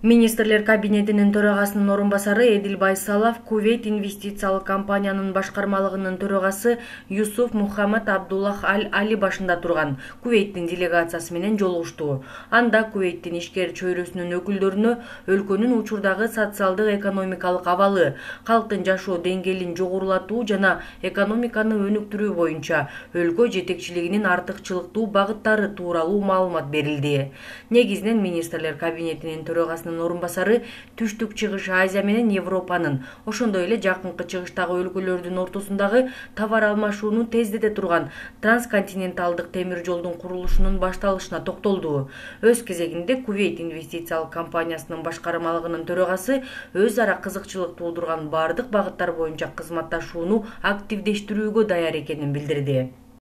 Министрлер кабинетинин төрагасынын орун басары Эдил Байсалов Кувейт инвестициялык компаниянын башкармалыгынын төрагасы Юсуф Мухаммад Абдуллах Аль-Али башында турган Кувейттин делегациясы менен жолугушту. Анда Кувейттин ишкер чөйрөсүнүн өкүлдөрүнө өлкөнүн учурдагы социалдык экономикалык абалы, калктын жашоо деңгээлин жогорулатуу жана экономиканы өнүктүрүү боюнча өлкө жетекчилигинин артыкчылыктуу багыттары тууралуу маалымат берилди. Негизинен министрлер кабинетинин төрагасынын орун басары Түштүк Чыгыш Азия менен Европанын, ошондой эле жакынкы чыгыштагы өлкөлөрдүн ортосундагы товар алмашууну тездете турган трансконтиненталдык темир жолдун курулушунун башталышына токтолду. Өз кезегинде Кувейт инвестициялык компаниясынын башкармалыгынын төрагасы өз ара кызыкчылык туудурган бардык багыттар боюнча кызматташууну активдештирүүгө даяр экенин билдирди.